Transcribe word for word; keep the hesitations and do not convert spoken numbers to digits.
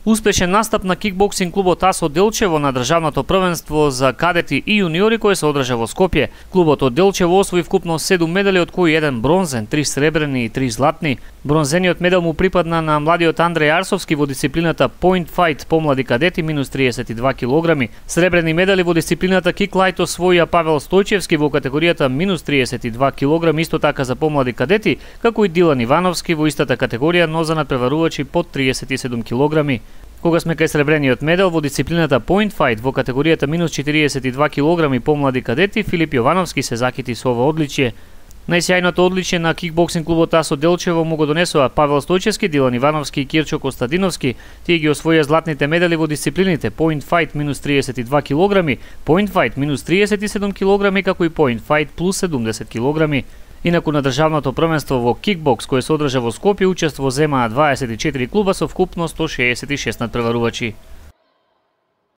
Успешен настап на кикбоксинг клубот АС од Делчево на државното првенство за кадети и јуниори кој се одржа во Скопје. Клубот од Делчево освои вкупно седум медали, од кои еден бронзен, три сребрени и три златни. Бронзениот медал му припадна на младиот Андреј Арсовски во дисциплината Point Fight помлади кадети минус триесет и два килограми. Сребрени медали во дисциплината Kick Light освоија Павел Стојчевски во категоријата минус триесет и два килограми, исто така за помлади кадети, како и Дилан Ивановски во истата категорија, но за надпреварувачи под триесет и седум килограми. Кога сме кај сребрениот медал во дисциплината Point Fight во категоријата минус четириесет и два килограми помлади кадети, Филип Јовановски се закити со ова одличие. Најсјајното одличие на кикбоксинг клубот АС од Делчево му го донесоа Павел Стојчевски, Дилан Ивановски и Кирчо Костадиновски. Тие ги освоија златните медали во дисциплините Point Fight минус триесет и два килограми, Point Fight минус триесет и седум килограми, како и Point Fight плюс седумдесет килограми. Инаку на државното првенство во кикбокс кој се одржа во Скопје учество земаа дваесет и четири клуба со вкупно сто шеесет и шест надпреварувачи.